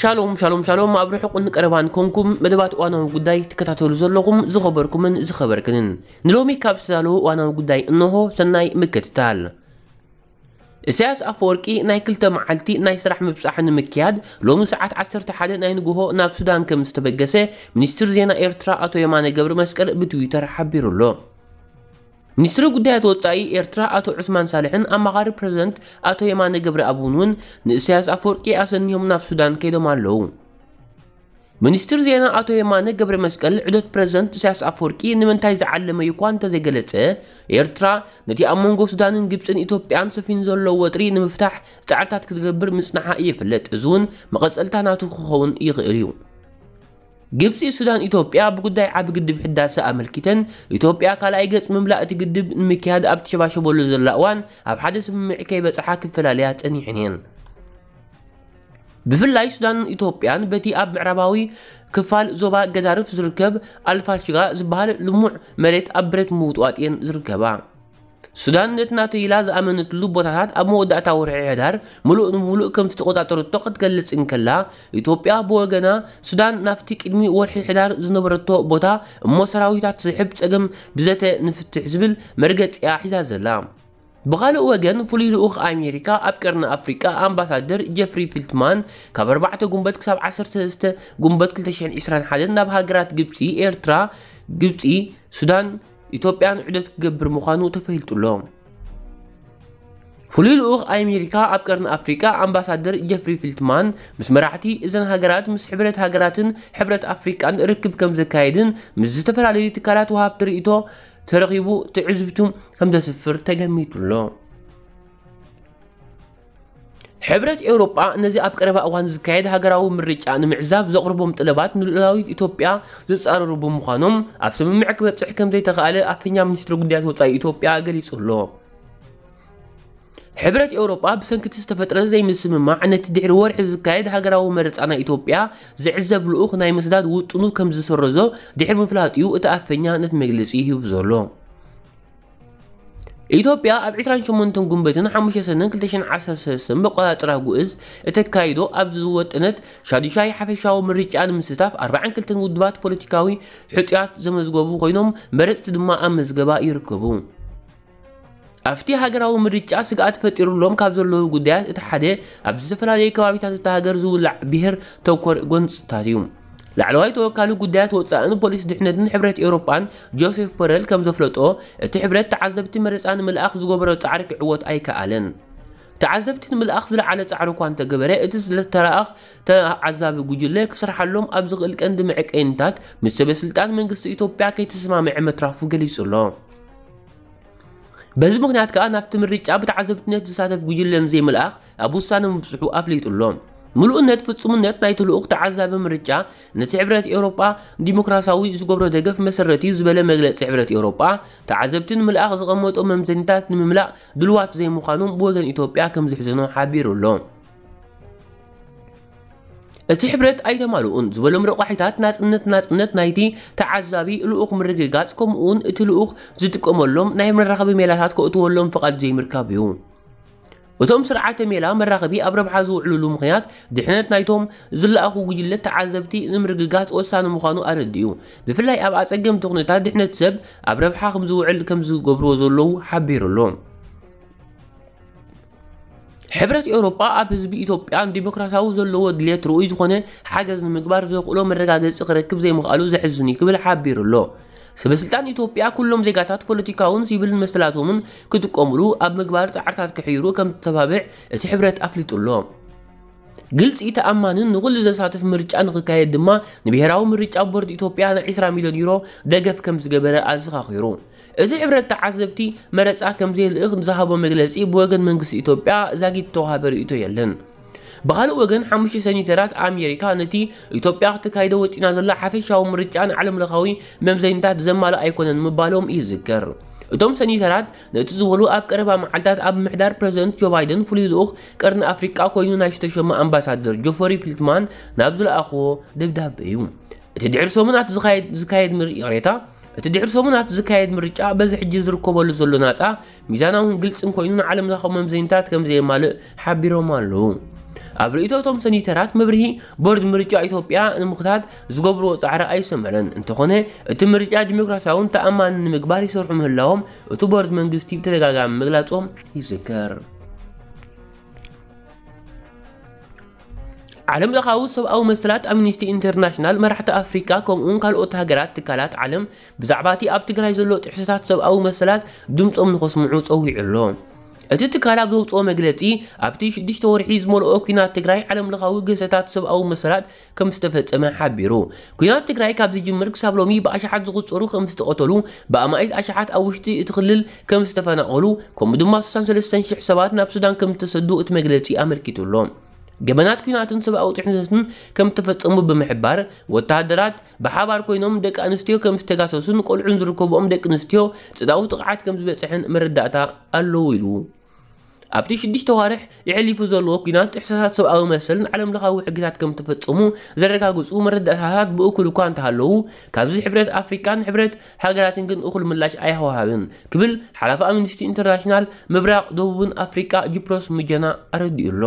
ሻሎም ሻሎም ሻሎም፣ ኣብ ርሑቕን ቀረባን ኮንኩም መደባት እዋናዊ ጉዳይ ትከታተሉ ዘለኹም ዝኸበርኩምን ዝኸበርክንን፣ ንሎሚ ካብ ዝተዳለወ እዋናዊ ጉዳይ እንሆ። ሰናይ ምክትታል። ኢሳያስ ኣፈወርቂ ናይ ክልተ መዓልቲ ናይ ስራሕ ምብጻሕ ንምክያድ ሎሚ ሰዓት ዓሰርተ ሓደ ናይ ንግሆ ናብ ሱዳን ከም ዝተበገሰ ሚኒስትር ዜና ኤርትራ ኣቶ የማነ ገብረ መስቀል ብትዊተር ሓቢሩ ኣሎ። ሚኒስትሪ ጉዳያት ወጻኢ ኤርትራ ኣቶ ዑስማን ሳልሕን ኣማኻሪ ፕረዚደንት ኣቶ የማነ ገብረኣብን እውን ንእሳያስ ኣፈወርቂ ኣሰኒሆም ናብ ሱዳን ከይዶም ኣለዉ። ሚኒስትር ዜና ኣቶ የማነ ገብረ መስቀል ዑደት ፕረዚደንት እሳያስ ኣፈወርቂ ንምንታይ ዝዓለመ እዩ እኳ እንተዘይገለጸ፣ ኤርትራ ነቲ ኣብ መንጎ ሱዳንን ግብጽን ኢትዮጵያን ሰፊኑ ዘሎ ወጥሪ ንምፍታሕ ጻዕርታት ክትገብር ምጽንሓ ይፍለጥ። እዚ እውን መቐጸልታ ናቱ ክኸውን ይኽእል እዩ። ግብጺ፣ ሱዳን፣ ኢትዮጵያ ብጉዳይ ዓቢ ግድብ ሕዳሰ ኣመልኪተን፣ ኢትዮጵያ ካልኣይ ገጽ ምምላእ እቲ ግድብ ንምክያድ ኣብ ትሸባሸበሉ ዘላ እዋን ኣብ ሓደ ስምምዕ ከይበጽሓ ክፈላለያ ጸኒሐን እየን። ብፍላይ ሱዳንን ኢትዮጵያን በቲ ኣብ ምዕራባዊ ክፋል ዞባ ገዳርፍ ዝርከብ ኣልፋሽጋ ዝበሃል ልሙዕ መሬት ኣብ ብረት ምውጥዋጥ እየን ዝርከባ። ሱዳን ነቲ ናተይ ኢላ ዝኣመነትሉ ቦታታት ኣብ መወዳእታ ወርሒ ሕዳር ምሉእ ንምሉእ ከም ዝተቖጻጸረቶ ክትገልጽ እንከላ፣ ኢትዮጵያ ብወገና ሱዳን ናብቲ ቅድሚ ወርሒ ሕዳር ዝነበረቶ ቦታ እሞ ሰራዊታት ዝስሕብ ጸገም ብዘተ ንፍትሕ ዝብል መርገጺ እያ ሒዛ ዘላ። ብኻልእ ወገን፣ ፍሉይ ልኡኽ ኣሜሪካ ኣብ ቀርኒ ኣፍሪቃ ኣምባሳደር ጀፍሪ ፊልትማን ካብ ኣርባዕተ ጉንበት ክሳብ ዓሰርተ ሰለስተ ጉንበት ክልተ ሽሕን ዕስራን ሓደን ናብ ሃገራት ግብጺ፣ ኤርትራ፣ ግብጺ፣ ሱዳን፣ ኢትዮጵያን ዑደት ክገብር ምዃኑ ተፈሊጡ ኣሎ። ፍሉይ ልኡኽ ኣሜሪካ ኣብ ቀርኒ ኣፍሪቃ ኣምባሳደር ጀፍሪ ፊልትማን ምስ መራሕቲ እዘን ሃገራት፣ ምስ ሕብረት ሃገራትን ሕብረት ኣፍሪቃን ርክብ ከም ዘካየድን ምስ ዝተፈላለዩ ትካላት ወሃብቲ ርእይቶ ተረኺቡ ትዕዝብቱ ከም ዘስፍር ተገሚቱ ኣሎ። ሕብረት ኤውሮጳ ነዚ ኣብ ቀረባ እዋን ዝካየድ ሃገራዊ ምርጫ ንምዕዛብ ዘቕርቦም ጠለባት ንልኡላዊት ኢትዮጵያ ዝጻረሩ ብምዃኖም ኣብ ስምምዕ ክበጽሕ ከም ዘይተኻእለ ኣፈኛ ሚኒስትሪ ጉዳያት ወጻኢ ኢትዮጵያ ገሊጹ ኣሎ። ሕብረት ኤውሮጳ ብሰንኪ እቲ ዝተፈጥረ ዘይምስምማዕ ነቲ ድሕሪ ወርሒ ዝካየድ ሃገራዊ መረጻ ናይ ኢትዮጵያ ዝዕዘብ ልኡኽ ናይ ምስዳድ ውጥኑ ከም ዝሰረዞ ድሕሪ ምፍላጡ እዩ እቲ ኣፈኛ ነቲ መግለጺ ሂቡ ዘሎ። ኢትዮጵያ ኣብ ዕስራን ሸሞንተን ጉንበትን ሓሙሽተ ሰነን ክልተ ሽሕን ዓሰርተ ሰለስተን መቆጻጸራ ጉእዝ እተካይዶ ኣብ ዝወጠነት ሻዱሻይ ሓፈሻዊ ምርጫ ንምስታፍ ኣርባዓን ክልተን ውድባት ፖለቲካዊ ሕጹያት ዘመዝገቡ ኮይኖም መረጽቲ ድማ ኣብ መዝገባ ይርከቡ። ኣብቲ ሃገራዊ ምርጫ ስግኣት ፈጢሩሎም ካብ ዘለዉ ጉዳያት እቲ ሓደ ኣብ ዝተፈላለዩ ከባቢታት እታ ሃገር ዝውላዕ ብሄር ተኮር ጎንጽታት እዩ። ላዕለዋይ ተወካሊ ጉዳያት ወጻእን ፖሊስ ድሕነትን ሕብረት ኤውሮጳን ጆሴፍ ቦረል ከም ዘፍለጦ፣ እቲ ሕብረት ተዓዘብቲ መረጻ ንምልኣኽ ዝገበሮ ጻዕሪ ክዕወት ኣይከኣለን። ተዓዘብቲ ንምልኣኽ ዝለዓለ ጻዕሪ እኳ እንተገበረ፣ እቲ ዝተለኣኽ ተዓዛቢ ጉጅለ ክስርሓሎም ኣብ ዝኽእል ቀንዲ መዐቀይንታት ምስ ሰበ ስልጣን መንግስቲ ኢትዮጵያ ከይተሰማምዐ ምትራፉ ገሊጹ ኣሎ። በዚ ምኽንያት ከኣ ናብቲ ምርጫ ብተዓዘብትነት ዝሳተፍ ጉጅለ ንዘይምልኣኽ ኣብ ውሳነ ምብጽሑ ኣፍሊጡ ኣሎ። ምሉእነት ፍጹምነት ናይቲ ልኡኽ ተዓዛቢ ምርጫ ነቲ ሕብረት ኤውሮጳ ዲሞክራሲያዊ ዝገብሮ ደገፍ መሰረት እዩ ዝበለ መግለጺ ሕብረት ኤውሮጳ፣ ተዓዘብቲ ንምልኣኽ ዝቐመጦ መምዘኒታት ንምምላእ ድልዋት ዘይምዃኖም ብወገን ኢትዮጵያ ከም ዝሕዝኖ ሓቢሩ ኣሎ። እቲ ሕብረት ኣይተማልኡን ዝበሎም ረቋሒታት ናጽነት፣ ናጽነት ናይቲ ተዓዛቢ ልኡኽ ምርግጋጽ፣ ከምኡውን እቲ ልኡኽ ዝጥቀመሎም ናይ መራኸቢ ሜላታት ከእትወሎም ፍቓድ ዘይምርካብ እዩ። እቶም ስርዓተ ሜላ መራኸቢ ኣብ ረብሓ ዝውዕሉሉ ምኽንያት ድሕነት ናይቶም ዝለኣኹ ጉጅለት ተዓዘብቲ ንምርግጋጽ ወሳኒ ምዃኑ ኣረዲኡ። ብፍላይ ኣብ ኣጸገምቲ ኩነታት ድሕነት ሰብ ኣብ ረብሓ ከም ዝውዕል ከም ዝገብርዎ ዘለዉ ሓቢሩ ኣሎ። ሕብረት ኤውሮጳ ኣብ ህዝቢ ኢትዮጵያን ዲሞክራሲያዊ ዘለዎ ድሌት ርኡይ ዝኾነ ሓገዝ ንምግባር ዘኽእሎ መረጋገጺ ክረክብ ዘይምኽኣሉ ዘሕዝን እዩ ክብል ሓቢሩ ኣሎ። ሰበ ስልጣን ኢትዮጵያ ኩሎም ዜጋታት ፖለቲካውን ሲቪልን መሰላቶምን ክጥቀሙሉ ኣብ ምግባር ጻዕርታት ክሕይሩ ከም ዝተባብዕ እቲ ሕብረት ኣፍሊጡ ኣሎ። ግልጺ፣ ተኣማንን ንኹሉ ዘሳትፍ ምርጫ ንኽካየድ ድማ ንብሄራዊ ምርጫ ቦርድ ኢትዮጵያ ናይ ዕስራ ሚልዮን ዩሮ ደገፍ ከም ዝገበረ ኣዘኻኺሩ። እቲ ሕብረት ተዓዘብቲ መረጻ ከም ዘየልእኽ ዝሃቦ መግለጺ ብወገን መንግስቲ ኢትዮጵያ ዛጊት ዝተዋህበ ርእይቶ የለን። ብኻልእ ወገን፣ ሓሙሽተ ሰኒተራት ኣሜሪካ ነቲ ኢትዮጵያ ክተካይዶ ወጢና ዘላ ሓፈሻዊ ምርጫ ንዓለምለኻዊ መምዘኒታት ዘማልእ ኣይኮነን ምባሎም ይዝከር። እቶም ሰኒተራት ነቲ ዝበሉ ኣብ ቀረባ መዓልታት ኣብ ምሕዳር ፕረዚደንት ጆ ባይደን ፍሉይ ልኡኽ ቀርኒ ኣፍሪቃ ኮይኑ ናይ ዝተሸመ ኣምባሳደር ጆፈሪ ፊልትማን ናብ ዝለኣኽዎ ደብዳበ እዩ። እቲ ድሕሪ ሰሙናት ዝካየድ፣ ዝካየድ ምር-፣ ይቕሬታ፣ እቲ ድሕሪ ሰሙናት ዝካየድ ምርጫ በዚ ሕጂ ዝርከበሉ ዘሎ ናጻ፣ ሚዛናውን ግልጽን ኮይኑ ንዓለም ለኻዊ መምዘኒታት ከም ዘየማልእ ሓቢሮም ኣለዉ። ኣብ ርእይቶ እቶም ሰኒተራት መብርሂ፣ ቦርድ ምርጫ ኢትዮጵያ ንምኽታት ዝገብርዎ ጻዕሪ ኣይሰመረን። እንተኾነ እቲ ምርጫ ዲሞክራሲያውን ተኣማንን ንምግባር ይሰርሑ ምህላዎም እቲ ቦርድ መንግስቲ ብተደጋጋሚ ምግላጾም ይዝከር። ዓለም ለኻዊ ሰብኣዊ መሰላት ኣምኒስቲ ኢንተርናሽናል መራሕቲ ኣፍሪካ ከምኡውን ካልኦት ሃገራት ትካላት ዓለም ብዛዕባ እቲ ኣብ ትግራይ ዘሎ ጥሕሰታት ሰብኣዊ መሰላት ድምፆም ንኸስምዑ ፀዊዑ ኣሎ። እቲ ትካል ኣብ ዘውፅኦ መግለፂ ኣብቲ ሽዱሽተ ወርሒ ዝመልኦ ኩናት ትግራይ ዓለም ለኻዊ ግህሰታት ሰብኣዊ መሰላት ከም ዝተፈጸመ ሓቢሩ። ኩናት ትግራይ ካብ ዝጅምር ክሳብ ሎሚ ብኣሽሓት ዝቑጸሩ ከም ዝተቐተሉ፣ ብኣማኢት ኣሽሓት ኣብ ውሽጢ እቲ ክልል ከም ዝተፈናቐሉ፣ ከምኡ ድማ ስሳን ሰለስተን ሽሕ ሰባት ናብ ሱዳን ከም ዝተሰዱ እቲ መግለጺ ኣመልኪቱ ኣሎ። ገበናት ኩናትን ሰብኣዊ ጥሕነትን ከም ዝተፈጸሙ ብምሕባር፣ ወተሃደራት ብሓባር ኮይኖም ደቂ ኣንስትዮ ከም ዝተጋሰሱን ቆልዑን ዝርከብኦም ደቂ ኣንስትዮ ጾታዊ ጥቕዓት ከም ዝበጽሐን መረዳእታ ኣለዉ ኢሉ። ኣብቲ ሽዱሽተ ዋርሕ የሕሊፉ ዘለዎ ኩናት ጥሕሰታት ሰብኣዊ መሰልን ዓለም ለኻዊ ሕግታት ከም ተፈጸሙ ዘረጋግጹ መረዳእታታት ብእኩል እኳ እንተሃለዉ፣ ካብዚ ሕብረት ኣፍሪቃን ሕብረት ሃገራትን ግን እኹል ምላሽ ኣይወሃብን ክብል ሓላፊ ኣምኒስቲ ኢንተርናሽናል ምብራቕ ደቡብን ኣፍሪቃ ጂፕሮስ ሙጀና ኣረዲኡ ኣሎ።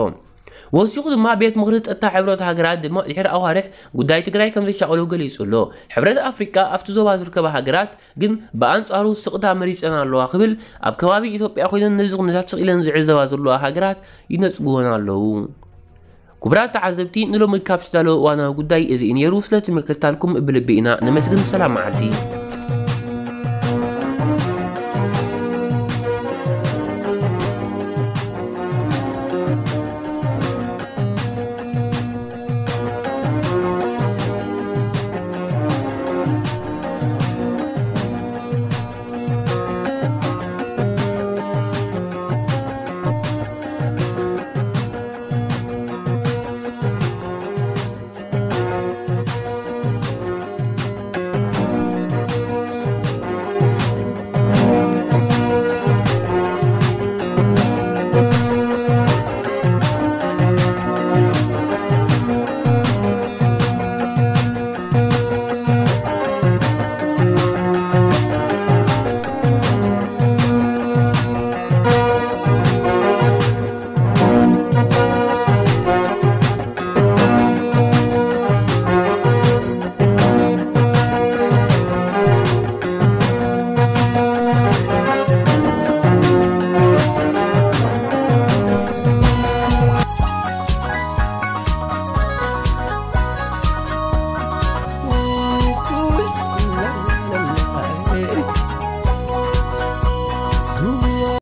ወሲኹ ድማ ቤት ምኽሪ ጸጥታ ሕብረት ሃገራት ድማ ድሕሪ ኣዋርሕ ጉዳይ ትግራይ ከም ዘሻቕሎ ገሊጹ ኣሎ። ሕብረት ኣፍሪቃ ኣብቲ ዞባ ዝርከባ ሃገራት ግን ብኣንጻሩ ስቕታ መሪጸን ኣለዋ ክብል ኣብ ከባቢ ኢትዮጵያ ኮይነን ነዚ ኩነታት ስቕ ኢለን ዝዕዘባ ዘለዋ ሃገራት ይነጽግወን ኣለዉ። ክቡራት ተዓዘብቲ ንሎሚ ካብ ዝተዳለወ እዋናዊ ጉዳይ እዚ እዩ ነይሩ። ስለቲ ምክትታልኩም ብልቢ ኢና ነመስግን። ሰላም መዓልቲ።